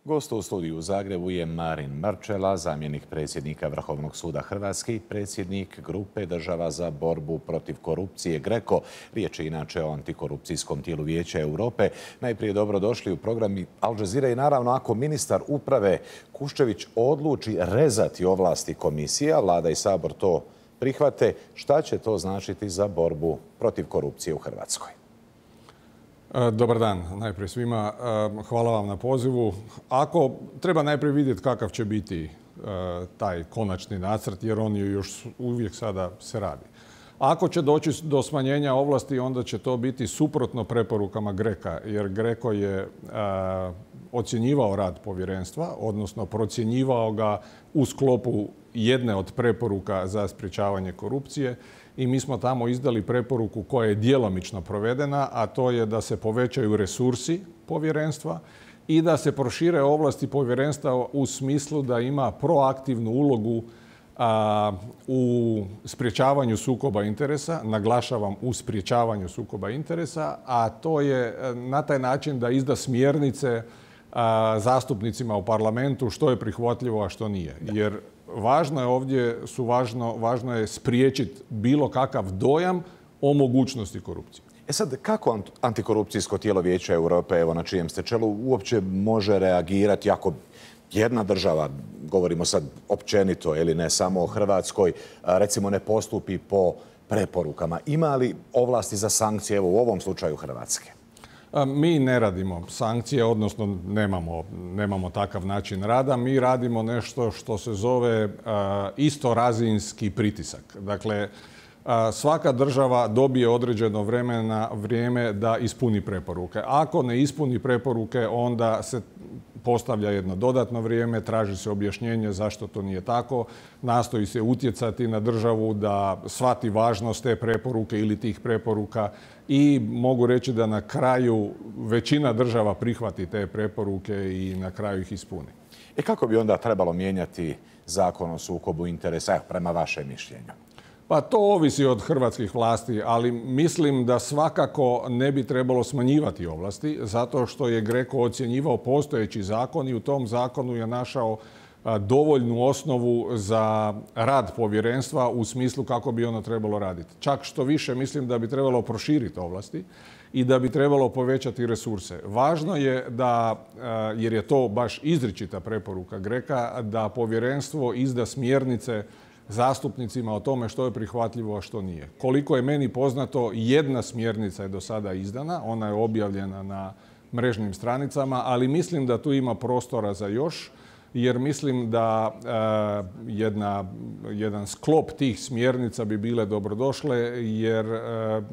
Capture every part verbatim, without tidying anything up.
Gost u studiju u Zagrebu je Marin Mrčela, zamjenik predsjednika Vrhovnog suda Hrvatske i predsjednik grupe država za borbu protiv korupcije GRECO. Riječ je inače o antikorupcijskom tijelu Vijeća Europe. Najprije dobrodošli u program Al Jazeera i naravno ako ministar uprave Kuščević odluči rezati ovlasti komisije, a Vlada i Sabor to prihvate, šta će to značiti za borbu protiv korupcije u Hrvatskoj? Dobar dan najprije svima. Hvala vam na pozivu. Ako treba najprije vidjeti kakav će biti taj konačni nacrt, jer on je još uvijek sada se radi. Ako će doći do smanjenja ovlasti, onda će to biti suprotno preporukama GRECO-a, jer GRECO je ocjenjivao rad povjerenstva, odnosno procjenjivao ga u sklopu jedne od preporuka za sprječavanje korupcije. I mi smo tamo izdali preporuku koja je djelomično provedena, a to je da se povećaju resursi povjerenstva i da se prošire ovlasti povjerenstva u smislu da ima proaktivnu ulogu a, u sprječavanju sukoba interesa, naglašavam u sprječavanju sukoba interesa, a to je na taj način da izda smjernice a, zastupnicima u parlamentu što je prihvatljivo, a što nije. Jer važno je ovdje, su važno, važno je spriječiti bilo kakav dojam o mogućnosti korupcije. E sad, kako antikorupcijsko tijelo Vijeća Europe, evo na čijem ste čelu, uopće može reagirati ako jedna država, govorimo sad općenito ili ne samo o Hrvatskoj, recimo ne postupi po preporukama? Ima li ovlasti za sankcije, evo u ovom slučaju Hrvatske? Mi ne radimo sankcije, odnosno nemamo, nemamo takav način rada. Mi radimo nešto što se zove istorazinski pritisak. Dakle, svaka država dobije određeno vremena, vrijeme da ispuni preporuke. Ako ne ispuni preporuke, onda se postavlja jedno dodatno vrijeme, traži se objašnjenje zašto to nije tako, nastoji se utjecati na državu da shvati važnost te preporuke ili tih preporuka i mogu reći da na kraju većina država prihvati te preporuke i na kraju ih ispuni. E kako bi onda trebalo mijenjati zakon o sukobu interesa, prema vašem mišljenju? Pa to ovisi od hrvatskih vlasti, ali mislim da svakako ne bi trebalo smanjivati ovlasti, zato što je GRECO ocjenjivao postojeći zakon i u tom zakonu je našao dovoljnu osnovu za rad povjerenstva u smislu kako bi ono trebalo raditi. Čak što više mislim da bi trebalo proširiti ovlasti i da bi trebalo povećati resurse. Važno je da, jer je to baš izričita preporuka GRECO-a, da povjerenstvo izda smjernice zastupnicima o tome što je prihvatljivo, a što nije. Koliko je meni poznato, jedna smjernica je do sada izdana, ona je objavljena na mrežnim stranicama, ali mislim da tu ima prostora za još, jer mislim da e, jedna, jedan sklop tih smjernica bi bile dobrodošle, jer e,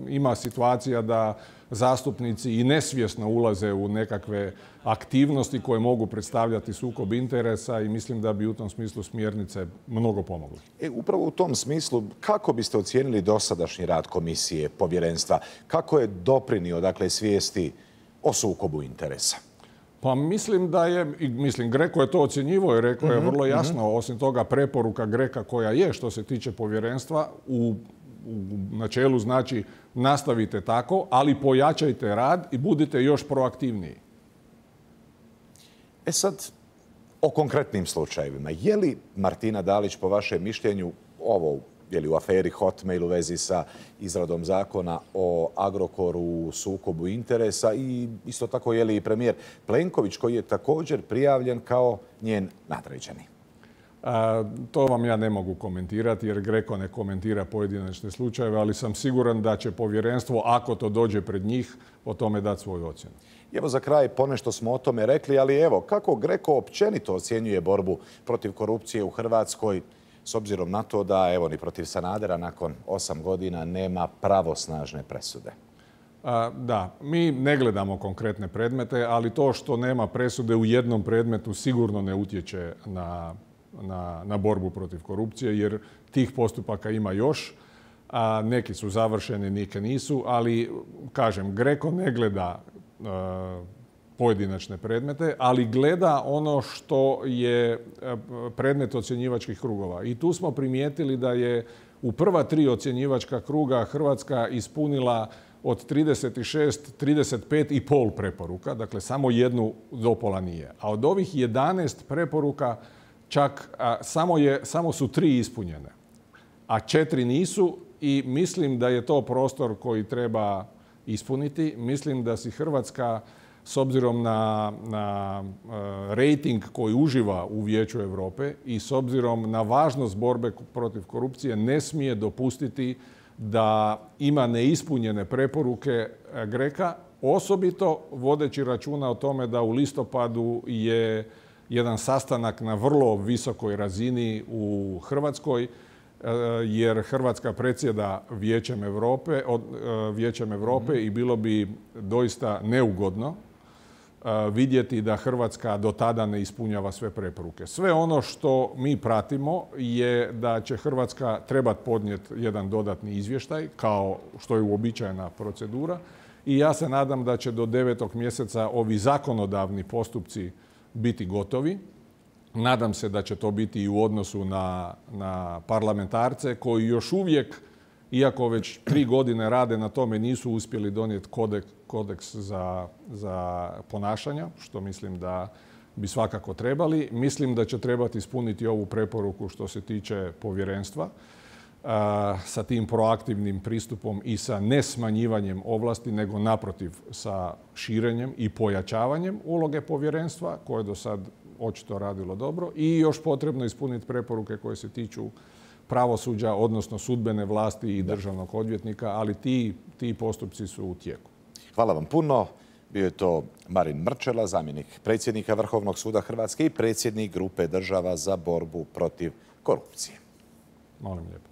ima situacija da zastupnici i nesvjesno ulaze u nekakve aktivnosti koje mogu predstavljati sukob interesa i mislim da bi u tom smislu smjernice mnogo pomogle. E, upravo u tom smislu, kako biste ocijenili dosadašnji rad komisije, povjerenstva? Kako je doprinio, dakle, svijesti o sukobu interesa? Pa mislim da je, mislim, GRECO je to ocjenjivao i rekao je vrlo jasno, osim toga preporuka GRECO-a koja je što se tiče povjerenstva u u načelu znači nastavite tako, ali pojačajte rad i budite još proaktivniji. E sad, o konkretnim slučajevima. Je li Martina Dalić, po vašem mišljenju, ovo je li u aferi Hotmail u vezi sa izradom zakona o Agrokoru u sukobu interesa i isto tako je li i premijer Plenković koji je također prijavljen kao njen nadređeni? A, to vam ja ne mogu komentirati jer GRECO ne komentira pojedinačne slučajeve, ali sam siguran da će povjerenstvo, ako to dođe pred njih, o tome dati svoju ocjenu. Evo za kraj, ponešto smo o tome rekli, ali evo, kako GRECO općenito ocjenjuje borbu protiv korupcije u Hrvatskoj, s obzirom na to da, evo, ni protiv Sanadera nakon osam godina nema pravosnažne presude? A, da, mi ne gledamo konkretne predmete, ali to što nema presude u jednom predmetu sigurno ne utječe na Na, na borbu protiv korupcije, jer tih postupaka ima još. A neki su završeni, neki nisu, ali kažem, GRECO ne gleda a, pojedinačne predmete, ali gleda ono što je predmet ocjenjivačkih krugova. I tu smo primijetili da je u prva tri ocjenjivačka kruga Hrvatska ispunila od trideset šest, trideset pet i pol preporuka, dakle samo jednu dopola nije. A od ovih jedanaest preporuka čak a, samo, je, samo su tri ispunjene, a četiri nisu i mislim da je to prostor koji treba ispuniti. Mislim da si Hrvatska, s obzirom na, na uh, rejting koji uživa u Vijeću Europe i s obzirom na važnost borbe protiv korupcije, ne smije dopustiti da ima neispunjene preporuke Greka, osobito vodeći računa o tome da u listopadu je jedan sastanak na vrlo visokoj razini u Hrvatskoj, jer Hrvatska predsjeda Vijećem Europe, Vijećem Europe mm-hmm. i bilo bi doista neugodno vidjeti da Hrvatska do tada ne ispunjava sve preporuke. Sve ono što mi pratimo je da će Hrvatska trebati podnijeti jedan dodatni izvještaj, kao što je uobičajena procedura, i ja se nadam da će do devetog mjeseca ovi zakonodavni postupci biti gotovi. Nadam se da će to biti i u odnosu na, na parlamentarce koji još uvijek, iako već tri godine rade na tome, nisu uspjeli donijeti kodeks, kodeks za, za ponašanja, što mislim da bi svakako trebali. Mislim da će trebati ispuniti ovu preporuku što se tiče povjerenstva a, sa tim proaktivnim pristupom i sa nesmanjivanjem ovlasti, nego naprotiv sa širenjem i pojačavanjem uloge povjerenstva, koje do sad očito radilo dobro, i još potrebno ispuniti preporuke koje se tiču pravosuđa, odnosno sudbene vlasti i državnog odvjetnika, ali ti, ti postupci su u tijeku. Hvala vam puno. Bio je to Marin Mrčela, zamjenik predsjednika Vrhovnog suda Hrvatske i predsjednik grupe država za borbu protiv korupcije. Molim lijepo.